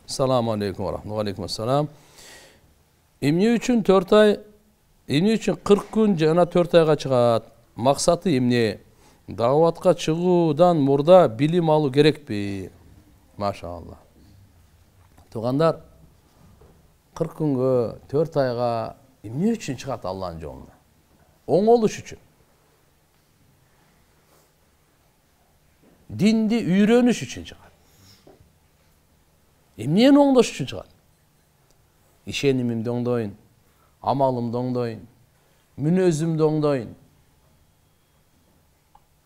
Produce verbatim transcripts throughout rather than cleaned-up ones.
Assalamu alaikum wa rahmatullahi wa alaikum assalam. Эмне үчүн төрт ай, эмне үчүн кырк күн жана төрт айга чыгат? Максаты эмне? Даватка чыгуудан мурда билим алуу керекпи? Машалла. Тугандар, кырк күнгө, төрт айга эмне үчүн чыгат Аллахтын жолуна? Оңолуш үчүн. Динди үйрөнүш үчүн чыгат. Эмнени оңдош үчүн чыгат? Ишенимимди оңдойн, амалымды оңдойн, мүнөзүмдү оңдойн.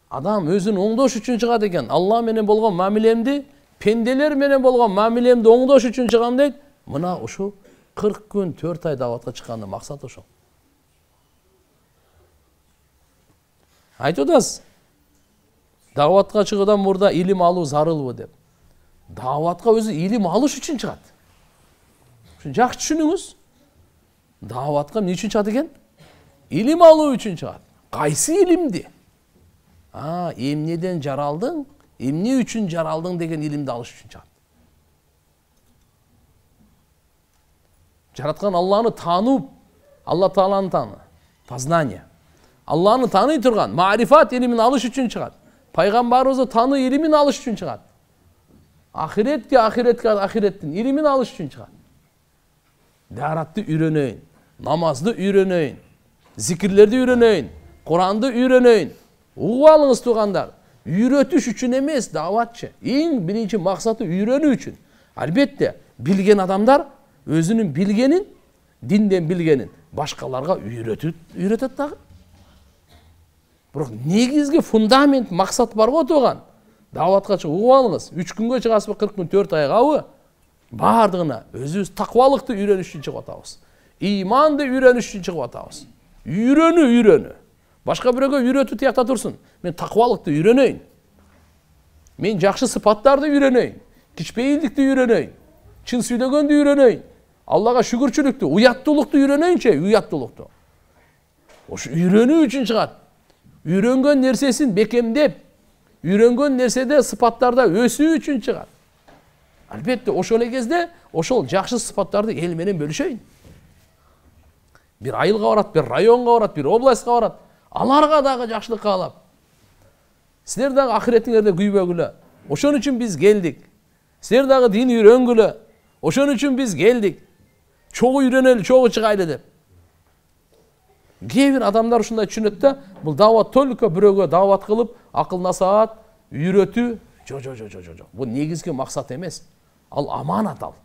Адам өзүн оңдош үчүн чыгат экен. Алла менен болгон мамилемди, пенделер менен болгон мамилемди оңдош үчүн чыгам дейт. Мына ушу кырк күн, төрт ай даватка чыккандын максаты ошол. Айтып атасыз, даватка чыгуудан мурда илим алуу зарылбы деп. Даватка өзү илим алыш үчүн чыгат. Ушун жакшы түшүнүңүз. Даватка эмне үчүн чыгат экен? Илим алуу үчүн чыгат. Кайсы илимди? А, эмнеден жаралдың, эмне үчүн жаралдың деген илимди алыш үчүн чыгат. Жараткан Алланы таанып, Алла Тааланы тааны, познание. Алланы тааный турган маарифат илимин алыш үчүн чыгат. Пайгамбарыбызды таануу илимин алыш үчүн чыгат. Ахиретке, ахиретке, ахиреттин илимин алыш үчүн чыгат. Даратты үйрөнөйүн, намазды үйрөнөйүн, зикирлерди үйрөнөйүн, Куранды үйрөнөйүн. Угуп алыңыз тугандар, үйрөтүш үчүн эмес даватчы. Эң биринчи максаты үйрөнүү үчүн. Албетте, билген адамдар өзүнүн билгенин, динден билгенин башкаларга үйрөтүп, үйрөтөт дагы. Бирок негизги фундамент, максат бар го туган. Даватка чыгып угуп алыңыз. үч күнгө чыгасызбы, кырк күн, төрт айгабы? Бардыгына өзүбүз таквалыкты үйрөнүш үчүн чыгып атабыз. Иманды үйрөнүш үчүн чыгып атабыз. Үйрөнүү, үйрөнүү. Башка бирөөгө үйрөтүү тиякта турсун. Мен таквалыкты үйрөнөйүн. Мен жакшы сыпаттарды үйрөнөйүн. Кичпейилдикти үйрөнөйүн. Чын сүйлөгөндү үйрөнөйүн. Аллага шүгүрчүлүктү, уяттуулукту үйрөнөйүнчү, уяттуулукту. Ош үйрөнүү үчүн чыгат. Үйрөнгөн нерсесин бекемдеп, үйрөнгөн нерседе сыпаттарда өсүү үчүн чыгат. Албетте, ошол эле кезде ошол жакшы сыпаттарды эл менен бөлүшөйүн. Бир айылга барат, бир районго барат, бир областка барат. Аларга дагы жакшылык каалап. Силер дагы ахиреттиңерде күйбөгүлө. Ошон үчүн биз келдик. Силер дагы дин үйрөнгүлө. Ошон үчүн биз келдик. Чогуу үйрөнөлү, чогуу чыгайлы деп. Кээ бир адамдар ушундай түшүнөт да, бул дават только бирөөгө дават кылып, акыл насаат, үйрөтүү. Жо, жо, жо, жо, жо. Бул негизги максат эмес. Ал аманат ал.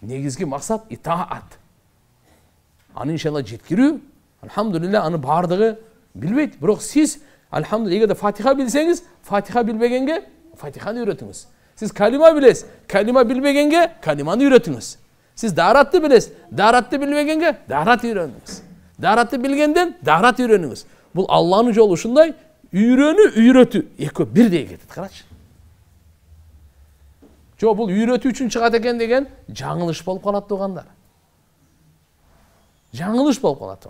Негизги максат итаат. Аны иншалла жеткирүү. Алхамдулилла, аны бардыгы билбейт. Бирок сиз алхамдулилла, эгерде Фатиха билсеңиз, Фатиха билбегенге Фатиханы үйрөтүңүз. Сиз калима билесиз, калима билбегенге калиманы үйрөтүңүз. Сиз даратты билесиз, даратты билбегенге дарат үйрөнүңүз. Даратты билгенден дарат үйрөнүңүз. Бул Алланын жолу ушундай, үйрөнүү, үйрөтүү экөө бирдей кетет, карачы. Жо, бул үйрөтүү үчүн чыгат экен деген жаңылыш болуп калат тугандар. Жаңылыш болуп калат.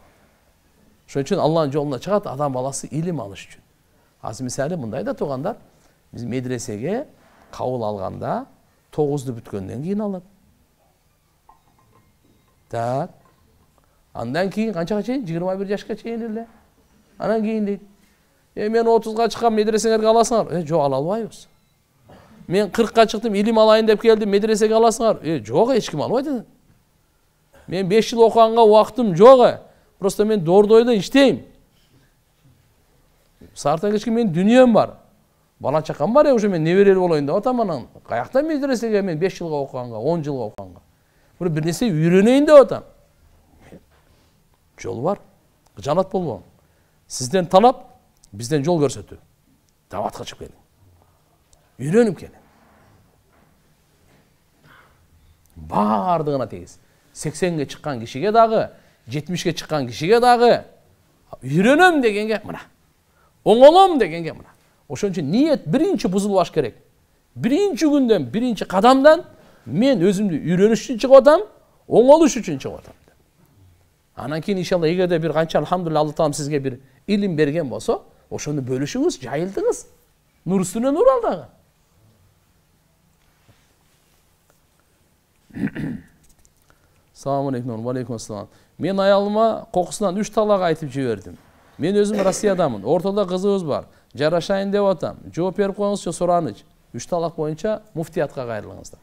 Ошон үчүн Алланын жолуна чыгат адам баласы илим алыш үчүн. Азыр мисалы мындай да тугандар, биз медресеге кабыл алганда тогузду бүткөндөн кийин алат. Так. Андан кийин канчага чейин? жыйырма бир жашка чейин эле. Анан кийин дейт. Э, мен отузга чыккан, медресеңерге аласыңар. Э, жок, ала албайбыз. Мен кыркка чыктым, илим алайын деп келдим, медресеге аласыңар. Э, жок, эч ким албайт. Мен беш жыл окуганга убактым жок. Просто мен Дордойдо иштейм. Сарта кечке мен дүнием бар. Бала чакам бар, уже мен неберелүү болоюн деп атам анан. Каякта медресеге мен беш жылга окуганга, он жылга окуганга. Бир бир нерсе үйрөнөйүн деп атам. Жол бар. Жанат болбоң. Сизден талап, бизден жол көрсөтүү. Даватка чыгып келиң. Үйрөнүп келиң. Бардыгына тегиз. сексенге чыккан кишиге дагы, жетимишке чыккан кишиге дагы үйрөнөм дегенге мына. Оңолом дегенге мына. Ошон үчүн ниет биринчи бузулбаш керек. Биринчи күндөн, биринчи кадамдан мен өзүмдү үйрөнүш үчүн чыгып атам, оңолуш үчүн чыгып атам. Анан кийин иншалла эгерде бир канча алхамдулилла Алла таалам сизге бир илим берген болсо, Ошону бөлүшүңүз, жайылтыңыз. Нур үстүнө нур ал дагы. Салам алейкум, алейкум ассалам. Мен аялыма кокусунан үч талак айтып жибердим. Мен өзүм Россиядамын. Ортодо кызыбыз бар. Жарашайын деп атам. Жооп берип коюңузчу сураныч. Үч талак боюнча муфтиятка кайрылыңыздар.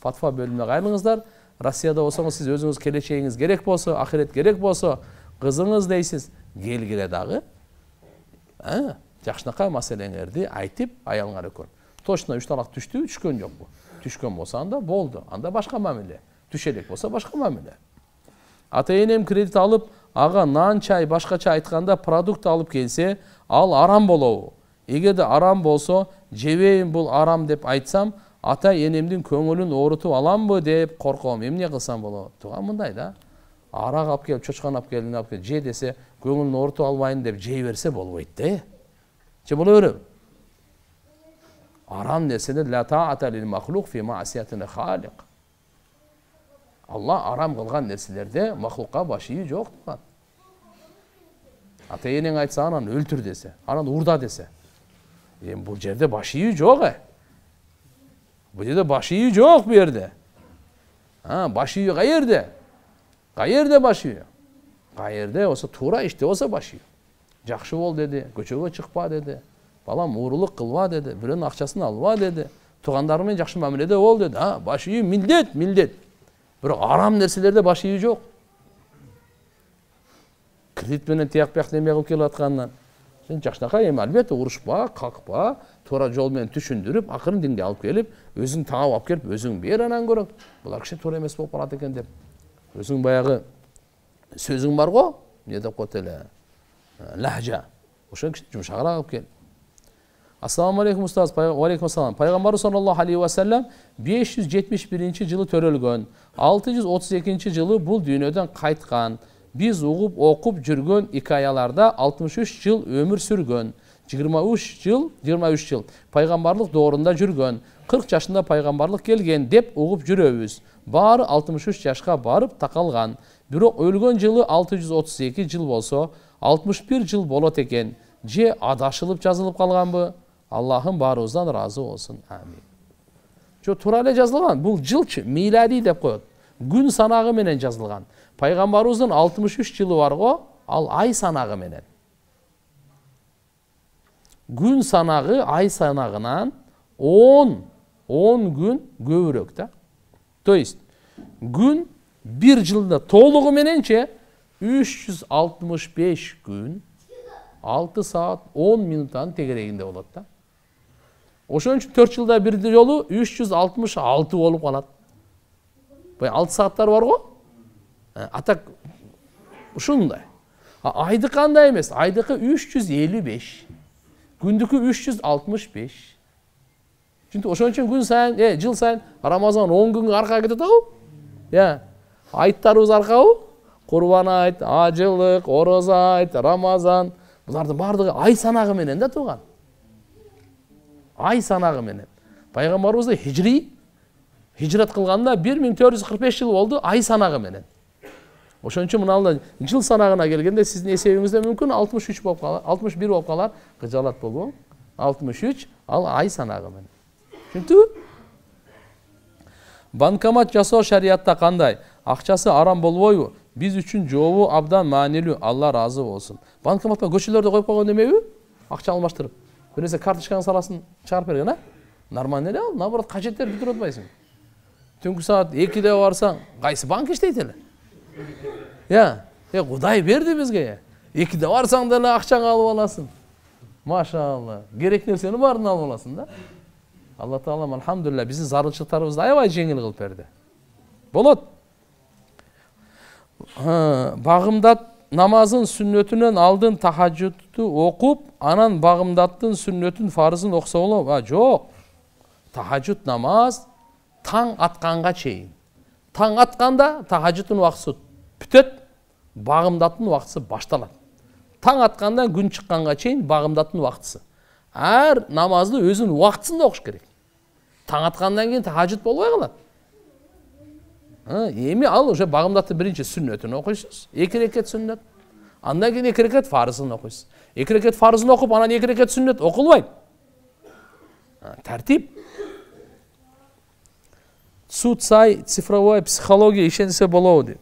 Фатва бөлүмүнө кайрылыңыздар. Россияда болсоңуз сиз өзүңүз келечегиңиз керек болсо, ахирет керек болсо, кызыңыз дейсиз, келгиле дагы. А, жакшынакай маселеңерди айтып аялыңар экөө. Точно үч талак түштү, түшкөн жокпу? Түшкөн болсо анда болду. Анда башка мамиле. Түшө элек болсо башка мамиле. Ата-энем кредит алып, ага нан, чай, башкача айтканда продукт алып келсе, ал арам болобу? Эгерде арам болсо, жебейин бул арам деп айтсам, ата-энемдин көңүлүн оорутуп аламбы деп корком. Эмне кылсам болот? Туган мындай да. Арак алып келип, чочкон алып келип, алып келип же десе, көңүлүн оорутуп албайын деп жей берсе болбойт да. Же боло береби? Арам нерседе ла таата лил махлук фи маасиятил халик. Алла арам кылган нерселерде махлукка баш ийүү жок турган. Ата-энең айтса анан өлтүр десе, анан урда десе. Эми бул жерде баш ийүү жок э. Бул жерде баш ийүү жок бу жерде. А, баш ийүү каерде? Каерде баш ийүү? Каерде болсо туура иште болсо баш ийүү. Жакшы бол деди, көчөгө чыкпа деди. Балам уурулук кылба деди, бирөөнүн акчасын алба деди. Туугандар менен жакшы мамиледе бол деди. А, баш ийүү милдет, милдет. Бирок арам нерселерде баш ийүү жок. Кредит менен тияк бияк неме кылып келип аткандан сен жакшынакай эми албетте урушпа, какпа, туура жол менен түшүндүрүп, акырын динге алып келип, өзүң таап алып келип, өзүң бер анан көрөк. Булар киши туура эмес болуп калат экен деп. Өзүң баягы сөзүң бар го, эмне деп коет эле? Лахжа. Ошон киши жумшагыраак алып кел. Ассаламу алейкум устаз. Алейкум ассалам. Пайгамбарыбыз саллаллаху алейхи ва саллям беш жүз жетимиш биринчи жылы төрөлгөн. алты жүз отуз экинчи жылы бул дүйнөдөн кайткан. Биз угуп окуп жүргөн икаяларда алтымыш үч жыл өмүр сүргөн. жыйырма үч жыл, жыйырма үч жыл пайгамбарлык доорунда жүргөн. кырк жашында пайгамбарлык келген деп угуп жүрөбүз. Баары алтымыш үч жашка барып такалган. Бирок өлгөн жылы алты жүз отуз эки жыл болсо, алтымыш бир жыл болот экен. Же адашылып жазылып калганбы? Аллахым баарыбыздан ыраазы болсун. Амин. Жо туура эле жазылган. Бул жылчы, милади деп коет. Күн санагы менен жазылган. Пайгамбарыбыздын алтымыш үч жылы бар го, ал ай санагы менен. Күн санагы ай санагынан он күн көбүрөөк да. То есть күн бир жылда толугу мененче үч жүз алтымыш беш күн, алты саат он минуттан тегерегинде болот да. Ошон үчүн төрт жылда бир жолу үч жүз алтымыш алты болуп калат. Бай алты сааттар бар го? Атак ушундай. Айды кандай эмес? Айдыкы үч жүз элүү беш. Күндүкү үч жүз алтымыш беш. Чүнтү ошон үчүн күн сайын, э, жыл сайын Рамазан он күнгө аркага кетет агыл? Я, айттарыбыз аркабы? Курбан айт, ажылык, ороза айт, Рамазан. Булардын бардыгы ай санагы менен да турган. Ай санагы менен. Пайгамбарыбыз да хижри хижрат кылганда бир миң төрт жүз кырк беш жыл болду ай санагы менен. Ошон үчүн мына жыл санагына келгенде сиздин эсебиңизде мүмкүн алтымыш үч болуп калар, алтымыш бир болуп калар, кыжалат болбоң. алтымыш үч ал ай санагы менен. Түшүндүңбү? Банкомат жасоо шариятта кандай? Акчасы арам болбойбу? Биз үчүн жообу абдан маанилүү. Алла ыраазы болсун. Банкоматка көчөлөрдө коюп койгон эмеби? Акча алмаштырып. Бир нерсе карточкаңдын саласын чыгарып берген, а? Нормально эле ал. Наоборот, кажеттер бүтүрүп атпайсың. Түнкү саат экиде барсаң, кайсы банк иштейт эле? Я, э, Кудай берди бизге. экиде барсаң деле акчаңды алып аласың. Машалла. Керек нерсени баарын алып аласың да. Алла Таалам алхамдулилля биздин зарылчылыктарыбызды аябай жеңил кылып берди. Болот. Багымдат намазын сүннөтүнөн алдын тахажжудту окуп, анан багымдаттын сүннөтүн фарызын окуса болобу? А, жок. Тахажжуд намаз таң атканга чейин. Таң атканда тахажжудтун убактысы бүтөт, багымдаттын убактысы башталат. Таң аткандан күн чыкканга чейин багымдаттын убактысы. Ар намазды өзүнүн убактысында окуш керек. Таң аткандан кийин тахажжуд болбой калат. Эми ал уже багымдатты биринчи сүннөтүн окуйсуз, эки рекет сүннөт. Андан кийин эки рекет фарызын окуйсуз. эки рекет фарызын окуп, анан эки рекет сүннет окулбайт. Тартип. Суд сай цифровая психология ишенсе болобу дейт.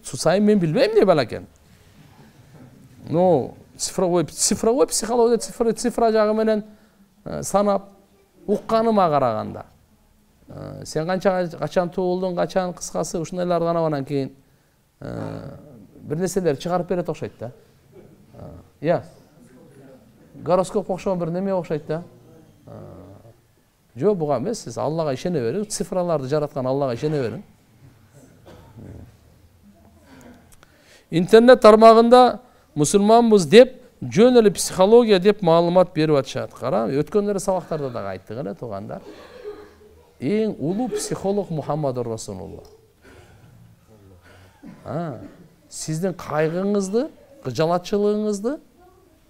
Суд сай мен билбейм не балакен. Ну, цифровой цифровой психология цифра цифра жагы менен санап укканыма караганда. Сен канча качан туулдуң, качан, кыскасы ушундайларды анан кийин бир нерселер чыгарып берет окшойт да. Я. Гороскоп окшогон бир неме окшойт да. Жок, буга эмес, сиз Аллага ишене бериң, цифраларды жараткан Аллага ишене бериң. Интернет тармагында мусулманбыз деп, жөн эле психология деп маалымат берип атышат. Кара, өткөндөрү сабактарда да айттык эле туугандар. Эң улуу психолог Мухаммадур Расулулла. А, сиздин кайгыңызды, кыжалатчылыгыңызды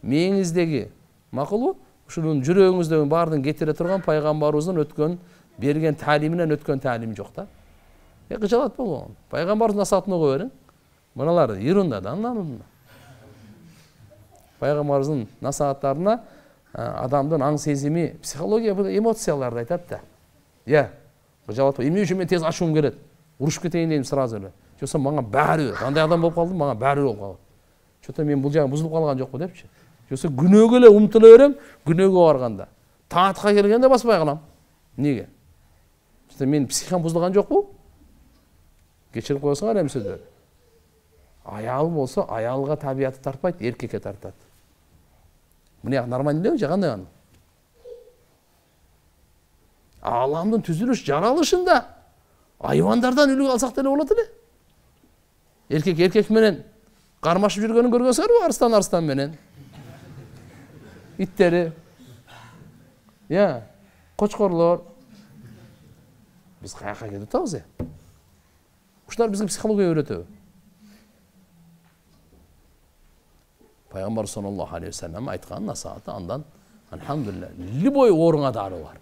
мээңиздеги, макулбу? Ушунун жүрөгүңүздөгү баардын кетире турган пайгамбарыбыздын өткөн, берген таалиминен өткөн таалим жок да. Э, кыжалат болгон. Пайгамбардын насаатын окуп бериң. Мыналар ерунда да, андан. Пайгамбарыбыздын насааттарына адамдын аң сезими, психология бул эмоцияларды айтат да. Я, кыжалат. Эмне үчүн мен тез ачуум келет? Урушуп кетейин дейм сразу эле. Жоксо мага баары, кандай адам болуп калдым, мага баары болуп калат. Чото мен бул жагы бузулуп калган жокпу депчи. Жоксо күнөөгө эле умтула берем, күнөөгө барганда. Таатка келгенде баспай калам. Неге? Чото мен психикам бузулган жокпу? Кечирип коесуңар эмсөдөр. Аял болсо, аялга табияты тартпайт, эркекке тартат. Мына нормально элеби же кандай аны? Аламдын түзүлүш жаралышында айвандардан үлгү алсак деле болот эле. Эркек эркек менен кармашып жүргөнүн көргөнсүзбү? Арстан арстан менен. Иттери. Я, кочкорлор. Биз каяка кетип атабыз э? Ушулар бизге психология үйрөтөбү? Пайгамбар саллаллаху алейхи ва саллям айткан насааты андан алхамдулилlah, любой ооруңа дары бар.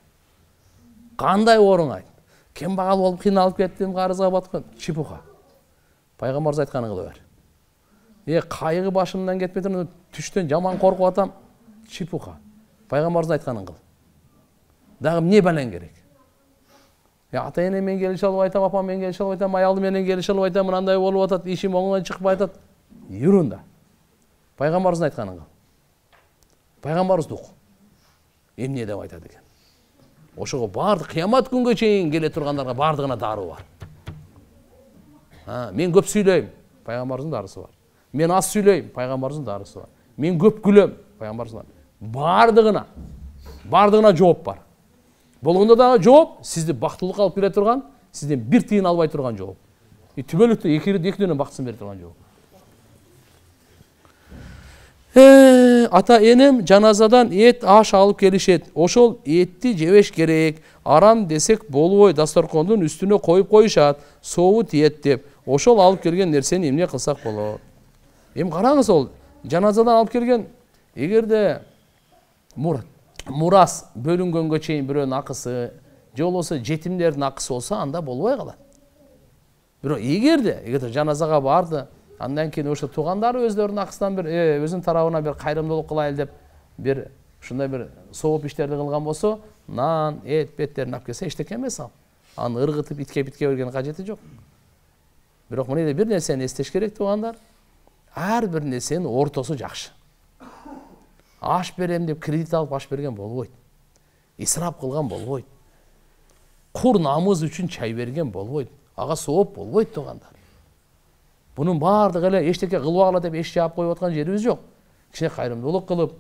Кандай ооруң айт? Кем багал болуп кыйналып кеттим, карызга баткан, чепуха. Пайгамбарыбыз айтканын кыла бер. Э, кайгы башымдан кетпей туруп, түштөн жаман коркуп атам, чепуха. Пайгамбарыбыз айтканын кыл. Дагы эмне балаң керек? Я ата-эне менен келише алып айтам, апам менен келише алып айтам, аялым менен келише алып айтам, мындай болуп атат, ишим оңдон чыкпай атат. Юрунда. Пайгамбарыбыздын айтканын кыл. Пайгамбарыбыз дук. Эмне деп айтат экен? Ошого баардык кыямат күнгө чейин келе тургандарга баардыгына дары бар. Ha, мен көп сүйлөйм, пайгамбарыбыздын дарысы бар. Мен аз сүйлөйм, пайгамбарыбыздын дарысы бар. Мен көп күлөм, пайгамбарыбыздын. Баардыгына, баардыгына жооп бар. Болгондо дагы жооп сизди бактылыкка алып келе турган, сизден бир тыйын албай турган жооп. И түбөлүктө экөөдөн бактысын бере турган жооп. Э, ата-энем жаназадан эт, аш алып келишет. Ошол этти жебеш керек. Арам десек болбой, дасторкондун үстүнө коюп коюшат. Сообу тиет деп. Ошол алып келген нерсени эмне кылсак болот? Эми караңыз, ол жаназадан алып келген, эгерде мурас бөлүнгөнгө чейин бирөөнүн акысы, же болбосо жетимдердин акысы болсо, анда болбой калат. Бирок эгерде, эгерде жаназага барды, андан кийин ошо туугандары өздөрүнүн акысынан бир өзүнүн тарабына бир кайрымдуулук кылайлы деп бир ушундай бир сооп иштерди кылган болсо, нан, эт, беттерин алып келсе эчтеке эмес ал. Аны ыргытып итке битке берген кажети жок. Бирок мына бир нерсени эстеш керек туугандар. Ар бир нерсенин ортосу жакшы. Аш берем деп кредит алып аш берген болбойт. Исрап кылган болбойт. Кур намыз үчүн чай берген болбойт. Ага сооп болбойт туугандар. Bunun баардыгы эле эчтеке кылбагыла деп эч жаап коюп аткан жерибиз жок. Кичине кайрымдуулук кылып,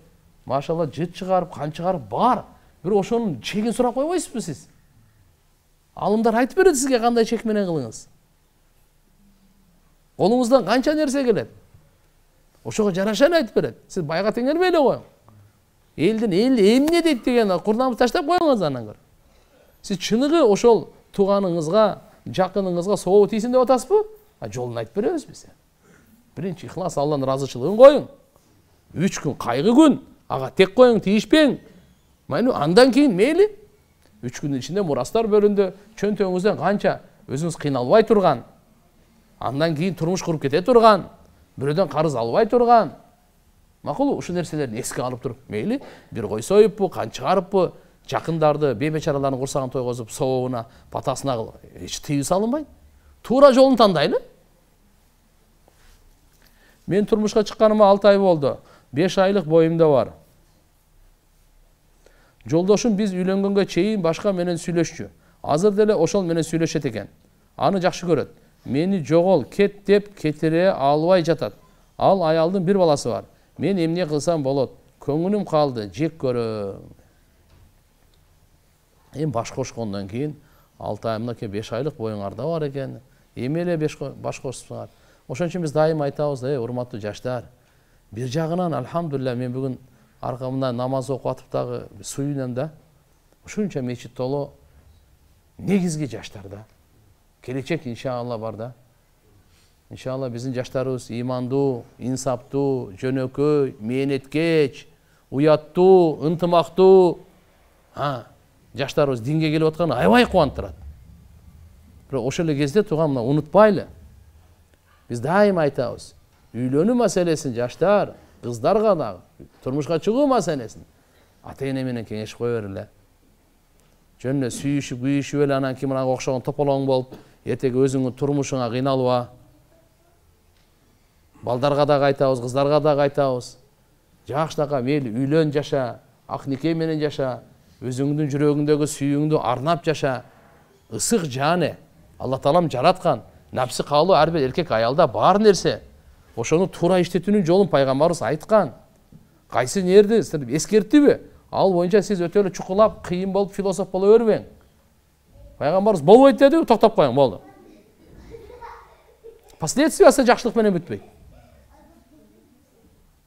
машалла жыт чыгарып, кан чыгарып бар. Бирок ошонун чегин сурап койбойсузбу сиз? Алымдар айтып берет сизге кандай чек менен кылыңыз. Колуңуздан канча нерсе келет. Ошого жараша эле айтып берет. Сиз байга теңелбей эле коюң. Элдин эл эмне дейт деген курнамды таштап коюңуз анан көрүп. Сиз чыныгы ошол тууганыңызга, жакыныңызга сообу тийсин деп атасызбы? А жолун айтып беребиз биз. Биринчи ихлас, Алланын разычылыгын коюң. үч күн кайгы күн, ага тек коюң, тийишпең. Майну андан кийин мейли. үч күндүн ичинде мурастар бөлүндү, чөнтөгүңүздөн канча өзүңүз кыйналбай турган, андан кийин турмуш куруп кете турган, бирөөдөн карыз албай турган. Макул, ушул нерселерди эске алып туруп, мейли бир кой союппу, кан чыгарыппы, жакындарды, бейбечаралардын курсагын тойгозуп, сообуна, патасына эч тыюу салынбайт. Туура жолун тандайлы. Мен турмушка чыкканыма алты ай болду. беш айлык боюмда бар. Жолдошум биз үйлөнгөнгө чейин башка менен сүйлөшчү. Азыр деле ошол менен сүйлөшөт экен. Аны жакшы көрөт. Мени жогол, кет деп кетире албай жатат. Ал аялдын бир баласы бар. Мен эмне кылсам болот? Көңүлүм калды, жек көрөм. Эми баш кошкондон кийин алты ай мынакей беш айлык боюңарда бар экен. Эми эле баш кошсуңар. Ошон үчүн биз дайым айтабыз, эй урматтуу жаштар. Бир жагынан алхамдулилля мен бүгүн аркамда намаз окуп атып дагы суюнам да. Ушунча мечит толо. Негизги жаштарда. Келечек иншалла бар да. Иншалла биздин жаштарыбыз имандуу, инсаптуу, жөнөкөй, мээнеткеч, уяттуу, ынтымактуу. Ha, жаштарыбыз динге келип атканы аябай кубандырат. Бирок ошол эле кезде туган мына унутпайлы. Биз дайым айтабыз. Үйлөнүү маселесин жаштар, кыздарга дагы, турмушка чыгуу маселесин ата-эне менен кеңешип кое бергиле. Жөн эле сүйүшүп, күйүшүп эле анан ким анага окшогон тополоң болуп, эртеги өзүңдүн турмушуңа кыйналба. Балдарга дагы айтабыз, кыздарга дагы айтабыз. Жакшынака мейли үйлөн жаша, ак нике менен жаша, өзүңдүн жүрөгүңдөгү сүйүүңдү арнап жаша. Ысык жаны Алла Таалам жараткан. Напсы каалоо ар бир эркек аялда бар нерсе. Ошону туура иштетүүнүн жолун пайгамбарыбыз айткан. Кайсы нерди эскерттиби? Ал боюнча сиз өтө эле чукулап, кыйын болуп философ боло бербең. Пайгамбарыбыз болбойт деди, токтоп коюң, болду. Последствиясы жакшылык менен бүтпөйт.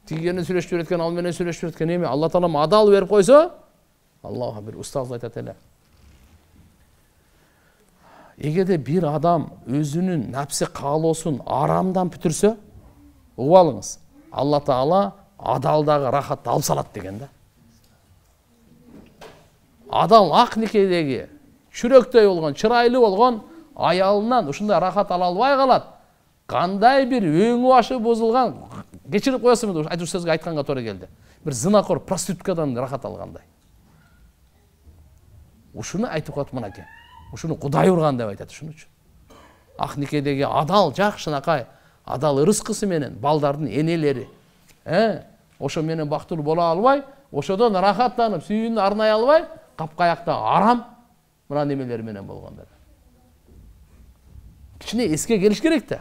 Тигени сүйлөшүп береткен, ал менен сүйлөшүп береткен эми Алла Таалам адал берип койсо, Аллах бир устаз айтат эле. Эгерде бир адам өзүнүн напсы каалоосун арамдан бүтүрсө, угуп алыңыз. Алла Таала адалдагы рахатты алып салат деген да. Адам ак никедеги чүрөктөй болгон, чырайлуу болгон аялынан ушундай рахат ала албай калат. Кандай бир өңү башы бузулган, кечирип коесузбу, айтуу сөзгө айтканга туура келди. Бир зынакор проституткадан рахат алгандай. Ушуну айтып коет мынакей. Ушуну Кудай урган деп айтат ушун үчүн. Ак никедеги адал жакшынакай, адал ырыскысы менен балдардын энелери, э, ошо менен бактылуу боло албай, ошодон рахаттанып, сүйүүнү арнай албай, капкаякта арам мына немелер менен болгондар. Кичине эске келиш керек да.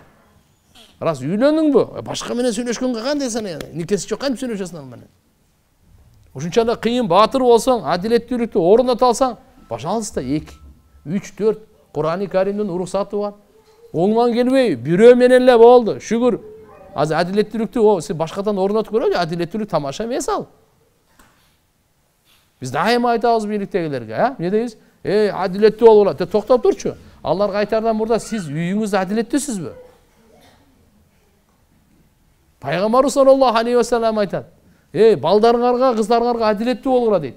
Раз үйлөнүңбү? Башка менен сүйлөшкөнгө кандай сен? Никеси жок кантип сүйлөшөсүң ал менен? Ушунча да кыйын баатыр болсоң, адилеттүүлүктү орното алсаң, пожалуйста, эки, үч, төрт Кур'ан-ы Каримдин уруксаты бар. Оңман келбей, бирөө менен эле болду. Шүгүр. Азыр адилеттүүлүктү о, сиз башкадан орнотуп көрөлү, адилеттүүлүк тамаша эмес ал. Биз дайыма айтабыз бийликтегилерге, а? Эмне дейбиз? Эй, адилеттүү болгула, деп токтоп турчу. Аларга айтардан мурда сиз үйүңүздө адилеттүүсүзбү? Пайгамбарыбыз саллаллаху алейхи ва саллям айтат. Эй, балдарыңарга, кыздарыңарга адилеттүү болгула дейт.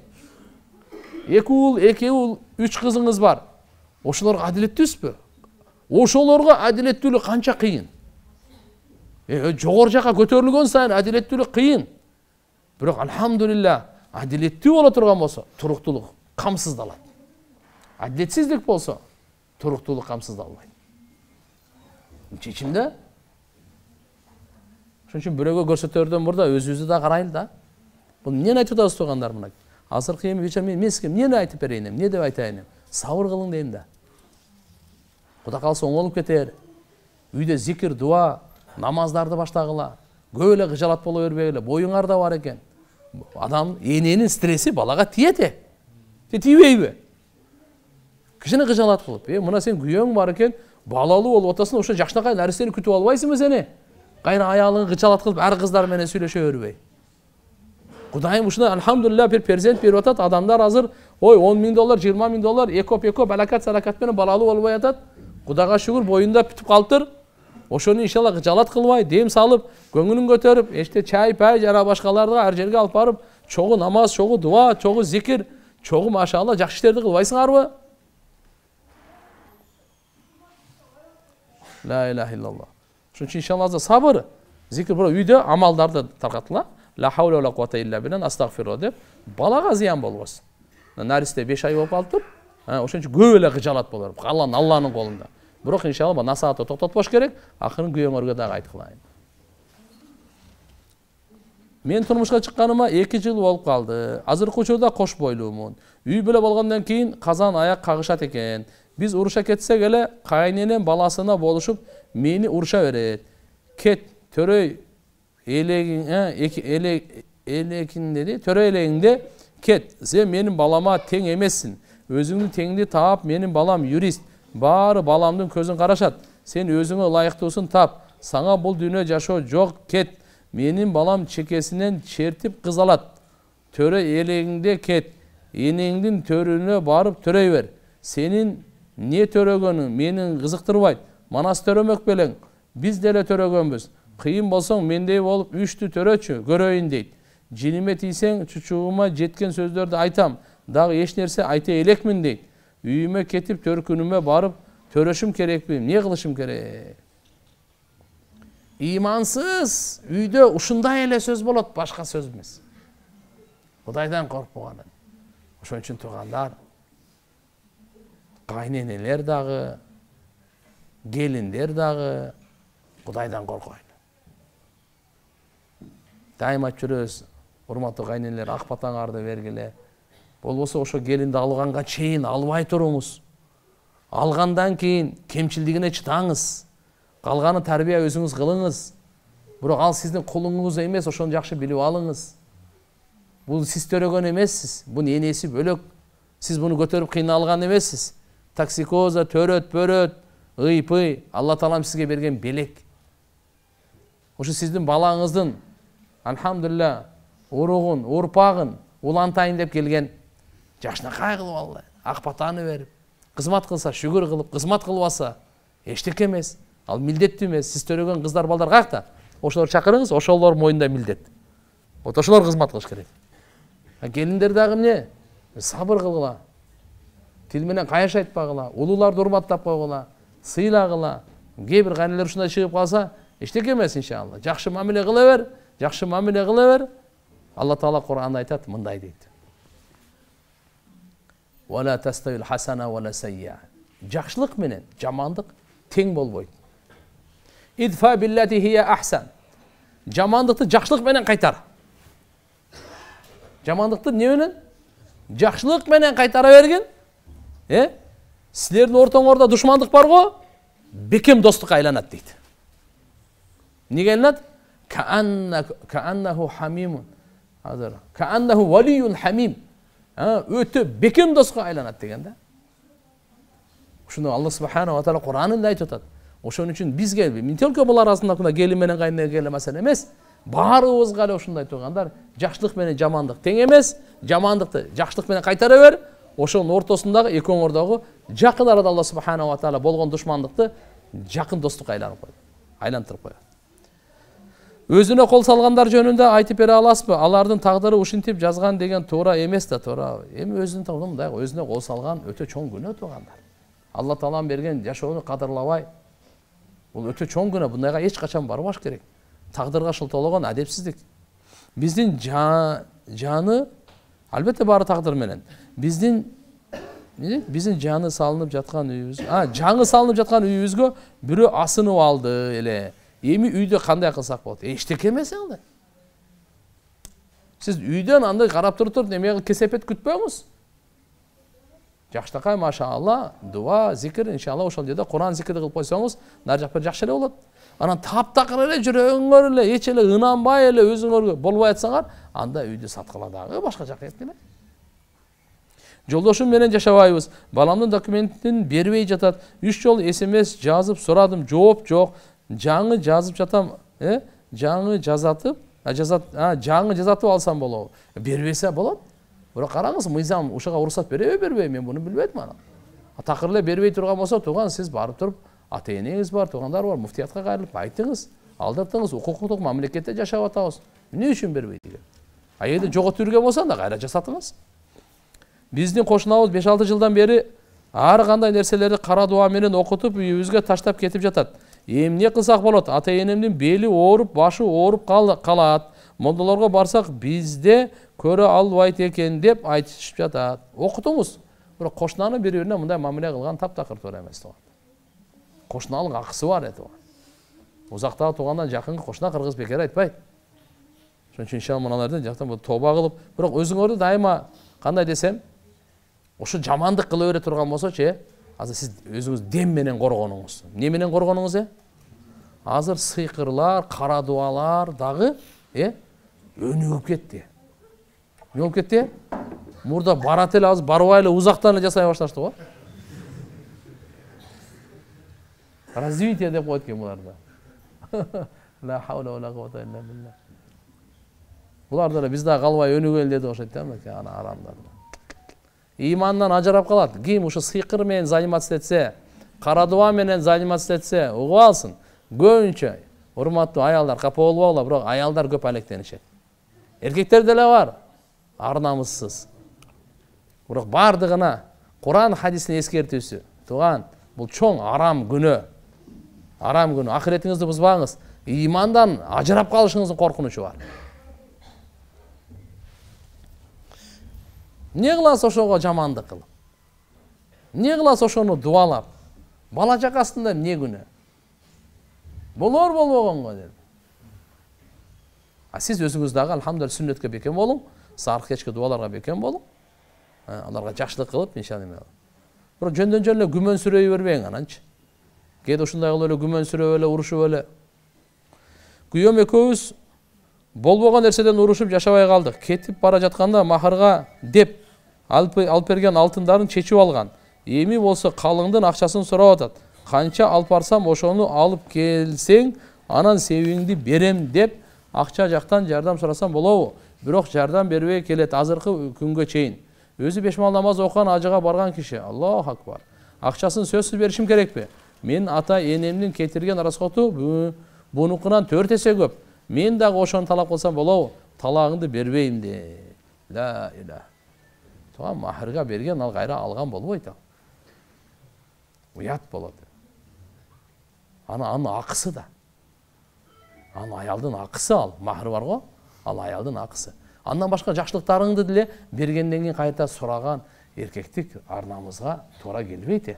Эки уул, эки уул, үч кызыңыз бар. Ошолорго адилеттүүсүзбү? Ошолорго адилеттүүлүк канча кыйын. Э, жогору жака көтөрүлгөн сайын адилеттүүлүк кыйын. Бирок алхамдулилла, адилеттүү боло турган болсо, туруктуулук камсыздалат. Адилетсиздик болсо, туруктуулук камсыздалбайт. Чечимде ошон үчүн бирөөгө көрсөтөрдөн мурда өзүбүздү да карайлы да. Бул эмнени айтып атабыз тугандар мына? Азыркы эми вечер мен эмеске эмнени айтып берейин, эмне деп айтайын? Сабыр кылың дейм да. Кудай калса оңолуп кетер. Үйдө зикир, дуа, намаздарды баштагыла. Көп эле кыжалат боло бербегиле. Боюңарда бар экен. Адам эненин стресси балага тиет э. Тиебейби? Кичине кыжалат кылып, э, мына сен күйөөң бар экен, балалуу болуп атасың, ошо жакшынакай нарсени күтүп албайсыңбы сени? Кайра аялың кыжалат кылып, ар кыздар менен сүйлөшө бербей. Кудайым ушуна алхамдулилла бир перзент берип атат. Адамдар азыр, ой, он миң доллар, жыйырма миң доллар, экоп экоп алакат салакат менен балалуу болбой атат. Кудайга шүгүр, боюнда бүтүп калыптыр. Ошону иншалла кыжалат кылбай, дем салып, көңүлүн көтөрүп, эште чай, пай, жана башкаларды ар жерге алып барып, чогуу намаз, чогуу дуа, чогуу зикир, чогуу машалла жакшы иштерди кылбайсыңарбы? Ла иляха иллаллах. Ошон үчүн иншалла сабыр. Зикир бирок үйдө амалдарды таркатыла. Ла хаула ва ла куввата илля билан астагфиру деп балага зыян болбосун. Наристе беш ай болуп калыптыр. Ошон үчүн көп эле кыжалат болор. Алланын Алланын колунда. Бирок иншалла насаатты токтотпош керек. Акырын күйөөңөргө дагы айткылайын. Мен турмушка чыкканыма эки жыл болуп калды. Азыркы учурда кош бойлуумун. Үй бүлө болгондон кийин казан аяк кагышат экен. Биз уруша кетсек эле кайненем баласына болушуп мени уруша берет. Кет төрөй элегиң, эки элек элекин деди. Төрөй элегиңде кет. Сен менин балама тең эмессиң. Өзүңдүн теңди таап, менин балам юрист. Баары баламдын көзүн карашат. Сен өзүңө ылайыктуусун тап. Саңа бул дүйнө жашоо жок, кет. Менин балам чекесинен чертип кыз алат. Төрө элегиңде кет. Энеңдин төрүнө барып төрөй бер. Сенин не төрөгөнүң менин кызыктырбайт. Манас төрөмөк белең. Биз деле төрөгөнбүз. Кыйын болсоң мендей болуп үчтү төрөчү, көрөйүн дейт. Жиниме тийсең чучугума жеткен сөздөрдү айтам. Дагы эч нерсе айта элекмин дейт. Үйүмө кетип төркүнүмө барып төрөшүм керекпи? Эмне кылышым керек? Имансыз үйдө ушундай эле сөз болот, башка сөз эмес. Кудайдан коркпоган. Ошон үчүн туугандар, кайненелер дагы, келиндер дагы Кудайдан коркойлу. Дайыма жүрөбүз, урматтуу кайненелер, ак батаңарды бергиле. Болбосо ошо келинди алганга чейин албай туруңуз. Алгандан кийин кемчилдигине чыдаңыз. Калганы тарбия өзүңүз кылыңыз. Бирок ал сиздин кулуңуз эмес, ошону жакшы билип алыңыз. Бул сиз төрөгөн эмессиз. Бунун энеси бөлөк. Сиз буну көтөрүп кыйналган эмессиз. Токсикоза, төрөт, бөрөт, ыйпый Алла таалам сизге берген белек. Ошо сиздин балаңыздын алхамдулилля уругун, урпагын улантайын деп келген. Жакшынакай кылып алды. Ак батаны берип, кызмат кылса шүгүр кылып, кызмат кылбаса эчтеке эмес. Ал милдеттүү эмес. Сиз төрөгөн кыздар балдар каякта? Ошолор чакырыңыз, ошолор мойнунда милдет. Вот ошолор кызмат кылыш керек. Келиндер дагы эмне? Сабыр кылгыла. Тил менен каяш айтпагыла, улууларды урматтап койгула, сыйлагыла. Кээ бир кайнелер ушундай чыгып калса, эчтеке эмес иншалла. Жакшы мамиле кыла бер, жакшы мамиле кыла бер. Алла таала Кур'анда айтат, мындай дейт. Вала таставил хасана вала сайя. Жакшылык менен жамандык тең болбойт. Идфа биллати хия ахсан. Жамандыкты жакшылык менен кайтар. Жамандыкты эмне менен? Жакшылык менен кайтара берген. Э? Силердин ортоңордо душмандык бар го? Бекем достукка айланат дейт. Эмнеге айланат? Кааннаху хамимун. Азыр. Кааннаху валиюн хамим. Өтө бекем достукка айланат деген да. Ушуну Алла субханаху ва таала Кур'анында айтып атат. Ошон үчүн бизге мен только булар арасында келин менен кайнеге келе маселе эмес. Баарыбызга эле ушундай туугандар, жакшылык менен жамандык тең эмес. Жамандыкты жакшылык менен кайтара бер. Ошонун ортосундагы экөөңөрдөгү жакын арада Алла субханаху ва таала болгон душмандыкты жакын достукка айланып коет. Айлантырып коет. Өзүнө кол салгандар жөнүндө айтып бере аласызбы? Алардын тагдыры ушинтип жазган деген туура эмес да, туура. Эми өзүнүн тагдыры мындай, өзүнө кол салган өтө чоң күнөө туугандар. Алла таалам берген жашоону кадырлабай, бул өтө чоң күнөө, бундайга эч качан барбаш керек. Тагдырга шылтоологон адепсиздик. Биздин жаны албетте баары тагдыр менен. Биздин биздин жаны салынып жаткан үйүбүз, а, жаңы салынып жаткан үйүбүзгө бирөө асынып алды эле. Эми үйдө кандай кылсак болот? Эчтеке эмес анда. Сиз үйдөн андай карап туруп, неме кесепет күтпөңүз. Жакшынакай машаалла, дуа, зикир, иншалла ошол жерде Кур'ан зикирди кылып койсоңуз, нар жакпа жакшы эле болот. Анан таптакыр эле жүрөгүңөр эле, эч эле ынанбай эле өзүңөргө болбой атсаңар, анда үйдү саткыла дагы башка жакка кеткиле. Жолдошум менен жашабайбыз. Баламдын документин бербей жатат. Үч жолу эс эм эс жазып сурадым, жооп жок. Жаңы жазып жатам, э? Жаңы жазатып, а жазат, а жаңы жазатып алсам болобу? Бербесе болот. Бирок караңыз, мыйзам ушуга уруксат береби, бербейби? Мен буну билбейм ана. Такыр эле бербей турган болсо, тууган сиз барып туруп, ата-энеңиз бар, туугандар бар, муфтиятка кайрылып айтыңыз, алдыртыңыз, укуктук мамлекетте жашап атабыз. Эмне үчүн бербейт деген? А эгерде жоготуп жүргөн болсо да кайра жасатыңыз. Биздин кошунабыз беш алты жылдан бери ар кандай нерселерди кара дуа менен окутуп үйүбүзгө таштап кетип жатат. Эмне кылсак болот? Ата энемдин бели ооруп, башы ооруп калат. Молдолорго барсак бизде көрө албайт экен деп айтышып жатат. Окутуңуз. Бирок кошунанын бири-бирине мындай мамиле кылган таптакыр туура эмес туган. Кошунанын акысы бар эти. Узактагы туугандан жакынкы кошуна кыргыз бекер айтпайт. Ошон үчүн иншалла мыналардан жактан бул тоба кылып, бирок өзүңөрдү дайыма кандай десем, ошо жамандык кыла бере турган болсочу, э, азыр сиз өзүңүз дем менен коргонуңуз. Эмне менен коргонуңуз, э? Азыр сыйкырлар, кара дуалар дагы, э, өнүгүп кетти. Эмне болуп кетти? Мурда барат эле, азыр барбай эле узактан эле жасай башташты го. Развитие деп коет экен буларда. Ла хаула ва ла куввата илля билля. Буларда эле биз дагы калбай өнүгөлү деди окшойт да, мына ана арамдар. Имандан ажырап калат. Ким ушу сыйкыр менен заниматься этсе, кара дуа менен заниматься этсе, угуп алсын. Көбүнчө урматтуу аялдар капа болбогула, бирок аялдар көп алектенишет. Эркектер деле бар, ар намыссыз. Бирок бардыгына Куран хадисин эскертүүсү. Туган, бул чоң арам күнөө. Арам күнөө. Ахиретиңизди бузбаңыз. Имандан ажырап калышыңыздын коркунучу бар. Не кыласыз ошого жамандык кылып? Не кыласыз ошону дуалап? Бала чакасында эмне күнөө? Болор болбогонго деп. А сиз өзүңүз дагы алхамдулилlah сүннөткө бекем болуң, сарык кечки дуаларга бекем болуң. Аларга жакшылык кылып, иншалла. Бирок жөндөн-жөн эле күмөнсүрөй бербең ананчы. Кээде ушундай кылып эле күмөнсүрөп эле, урушуп эле. Күйөөм экөөбүз болбогон нерседен урушуп жашабай калдык. Кетип бара жатканда махырга деп алып берген алтындарын чечип алган. Эми болсо калыңдын акчасын сурап атат. Канча алып барсам ошону алып келсең, анан себиңди берем деп акча жактан жардам сурасам болобу? Бирок жардам бербей келет азыркы күнгө чейин. Өзү беш мал намаз окуган ажыга барган киши. Аллаху акбар. Акчасын сөзсүз беришим керекпи? Мен ата энемдин кетирген расходу бунукунан төрт эсе көп. Мен дагы ошону талап кылсам болобу? Талагыңды бербейм де. Ла иля. Туган махырга берген ал кайра алган болбойт ал. Уят болот. Ана анын акысы да. Аны аялдын акысы ал. Махыр бар го? Ал аялдын акысы. Андан башка жакшылыктарыңды деле бергенден кийин кайта сураган эркектик ар намызга туура келбейт.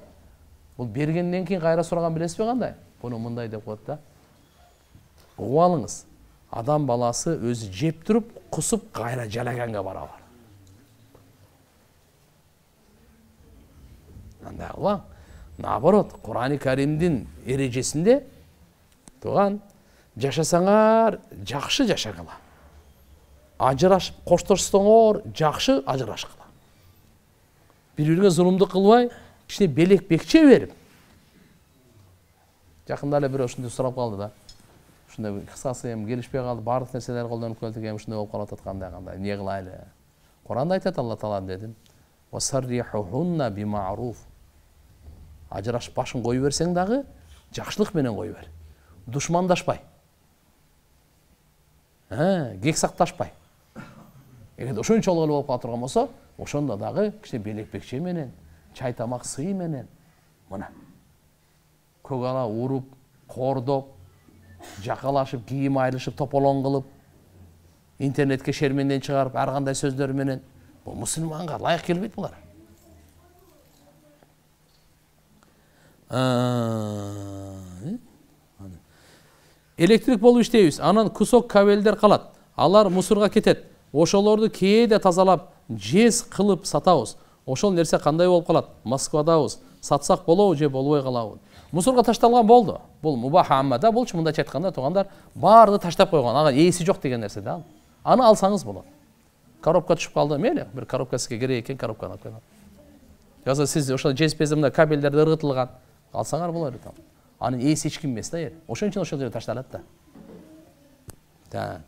Бул бергенден кийин кайра сураган билесизби кандай? Буну мындай деп коет да. Угуп алыңыз. Адам баласы өзү жеп туруп, кусуп кайра жалаганга барабар. Андай кылбаң. Наоборот, Курани Каримдин эрежесинде туган жашасаңар жакшы жашагыла. Ажырашып коштошсоңор жакшы ажырашкыла. Бири-бирине зулумдук кылбай, кичине белек бекче берип. Жакында эле бирөө ушундай сурап калды да. Ушундай кыскасы эми келишпей калды, бардык нерселер колдонуп келдик, эми ушундай болуп калып аткандай кандай, эмне кылайлы? Куранда айтат Алла Таала дедим. Васаррихухунна бима'руф. Ажырашып башын кой берсең дагы жакшылык менен кой бер. Душмандашпай. Ха, кек сакташпай. Эгерде ошончолук эле болуп кала турган болсо, ошондо дагы кичине белек бекче менен, чай тамак сый менен мына көк ала уруп, кордоп, жакалашып, кийим айрылышып, тополоң кылып, интернетке шерменден чыгарып, ар кандай сөздөр менен бул мусулманга ылайык келбейт булар. Электрик болуп иштейбиз. Анан кусок кабелдер калат. Алар мусорго кетет. Ошолорду кээде тазалап, жез кылып сатабыз. Ошол нерсе кандай болуп калат? Москвадабыз. Сатсак болобу же болбой калабы? Мусорго ташталган болду. Бул мубах аммада, булчу мындайча айтканда туугандар баарды таштап койгон. Ага ээси жок деген нерсе да. Аны алсаңыз болот. Коробка түшүп калды, мейли, бир коробка сизге керек экен, коробканы алып койгон. Жаза сиз ошол жез безимде кабелдерди ыргытылган. Алсаңар болот да. Анын ээси эч ким эмес да. Ошон үчүн ошол жерге ташталат да. Да.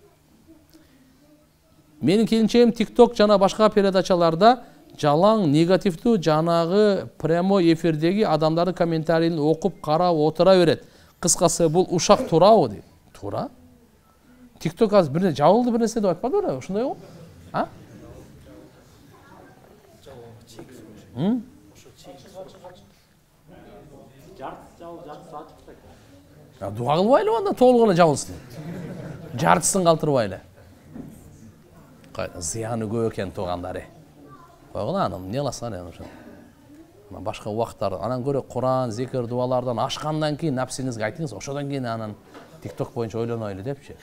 Менин келинчегим TikTok жана башка передачаларда жалаң негативдүү жанагы прямой эфирдеги адамдардын комментарийин окуп, карап отура берет. Кыскасы бул ушак туурабы дейт. Туура. TikTok азыр бир жабылды бир нерсе деп айтпады беле? Ошондой го? А? Дуа кылбайлы анда толук эле жабылсын. Жартысын калтырбайлы. Зыяны көп экен туугандары. Койгула анын эмне кыласың анан ошо. Ана башка убакыттар анан көрө Куран, зикир, дуалардан ашкандан кийин напсиңизге айтыңыз, ошодон кийин анан TikTok боюнча ойлонойлу депчи.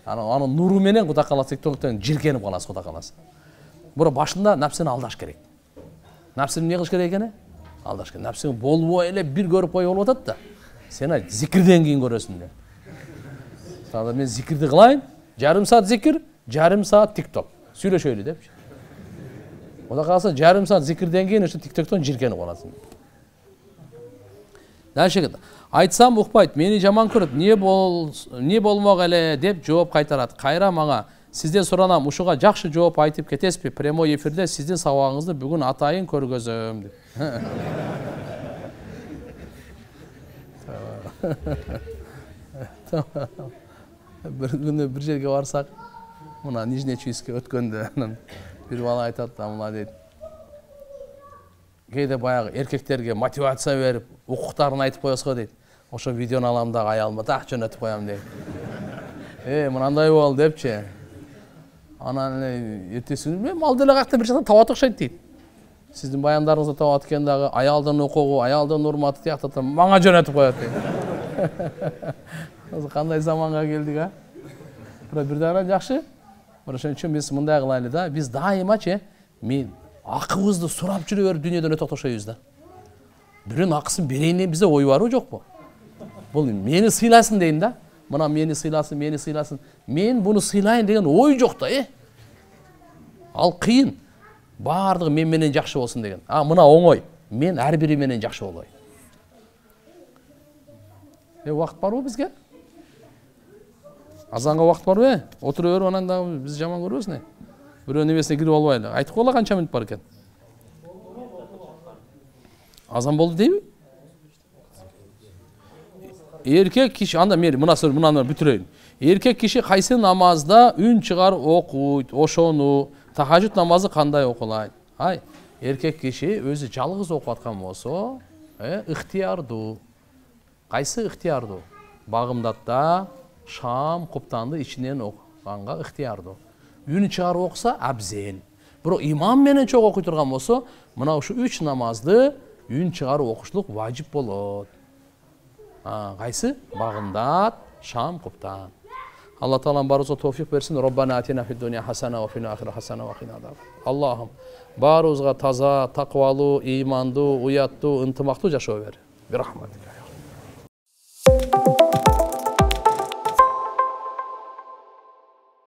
Анан анын нуру менен Кудай кааласа TikToктон жиркенип каласыз, Кудай кааласа. Бирок башында напсини алдаш керек. Напсини эмне кылыш керек экени? Алдаш керек. Напсиң болбой эле бир көрүп коюп болуп атат да. Сен айт, зикирден кийин көрөсүң деп. Тагы мен зикирди кылайын, жарым саат зикир, жарым саат TikTok. Сүйлөшөйлү депчи. Кудай кааласа жарым саат зикирден кийин ошо TikToктон жиркенип каласың. Дальше айтсам укпайт, мени жаман көрөт, эмне бол эмне болмок эле деп жооп кайтарат. Кайра мага сизден суранам, ушуга жакшы жооп айтып кетесизби? Прямой эфирде сиздин сабагыңызды бүгүн атайын көргөзөм деп. Бир күнү бир жерге барсак, мына Нижний Чуйскке өткөндө анан бир бала айтат да, мына дейт. Кээде баягы эркектерге мотивация берип, укуктарын айтып коесуз го дейт. Ошо видеону алам да аялыма так жөнөтүп коям дейт. Э, мынандай бол депчи. Анан эртеси күнү мен ал деле какта бир жактан табат окшойт дейт. Сиздин баяндарыңызды табат экен дагы, аялдын укугу, аялдын урматы тияктата мага жөнөтүп коет дейт. Кандай заманга келдик, а? Бирок бир дагы жакшы. Бирок ошон үчүн биз мындай кылайлы да, биз дайымачы мен акыбызды сурап жүрө берип дүйнөдөн өтө окшойбуз да. Бирөөнүн акысын берейин деп бизде ой барбы жокпу? Бул мени сыйласын дейм да. Мына мени сыйласын, мени сыйласын. Мен буну сыйлайын деген ой жок да, э? Ал кыйын. Бардыгы мен менен жакшы болсун деген. А мына оңой. Мен ар бири менен жакшы болой. Э, убакыт барбы бизге? Азанга убакыт барбы? Отура берип анан дагы биз жаман көрбөсүн. Бирөөнүн небесине кирип албайлы. Айтып койгула канча мүнөт бар экен? Азан болду дейби? Эркек киши анда мен мына сөз мынаны бүтүрөйүн. Эркек киши кайсы намазда үн чыгарып окуйт, ошону тахажжуд намазы кандай окулайт? Ай, эркек киши өзү жалгыз окуп аткан болсо, э, ыктыярдуу. Кайсы ыктыярдуу? Багымдатта шам, куптанды ичинен окуганга ыктыярдуу. Үн чыгарып окуса абзел. Бирок имам менен чогуу окуй турган болсо, мына ушу үч намазды үн чыгарып окушлук важип болот. А, кайсы? Багымдат, шам, куптан. Алла Таалам барыбызга товфик берсин. Роббана атина фид дуния хасана ва фил ахирати хасана ва кина азаб. Аллахым барыбызга таза, таквалуу, ыймандуу, уяттуу, ынтымактуу жашоо бер. Бирахматика.